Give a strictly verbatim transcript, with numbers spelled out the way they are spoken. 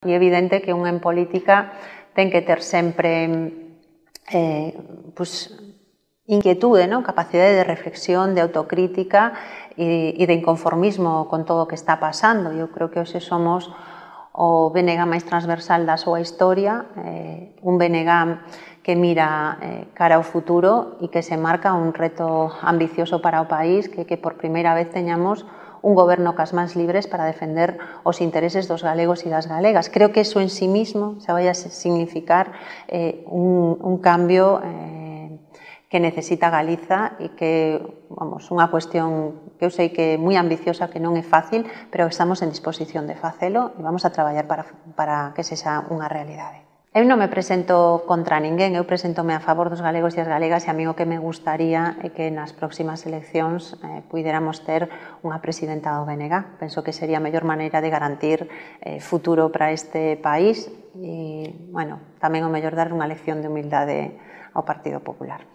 É evidente que un en política ten que ter sempre eh, pues, inquietude, ¿no? Capacidade de reflexión, de autocrítica e, e de inconformismo con todo o que está pasando. Eu creo que hoxe somos o B N G máis transversal da súa historia, eh, un B N G que mira eh, cara ao futuro e que se marca un reto ambicioso para o país, que, que por primeira vez teñamos un goberno cas mans libres para defender os intereses dos galegos e das galegas. Creo que eso en sí mismo se vai a significar eh, un, un cambio eh, que necesita Galiza e que, vamos, unha cuestión que eu sei que é moi ambiciosa, que non é fácil, pero estamos en disposición de facelo e vamos a traballar para, para que sexa unha realidade. Eu non me presento contra ninguén, eu presentome a favor dos galegos e as galegas e a mí o que me gustaría é que nas próximas eleccións eh, puidéramos ter unha presidenta do B N G. Penso que sería a mellor maneira de garantir eh, futuro para este país e, bueno, tamén o mellor dar unha lección de humildade ao Partido Popular.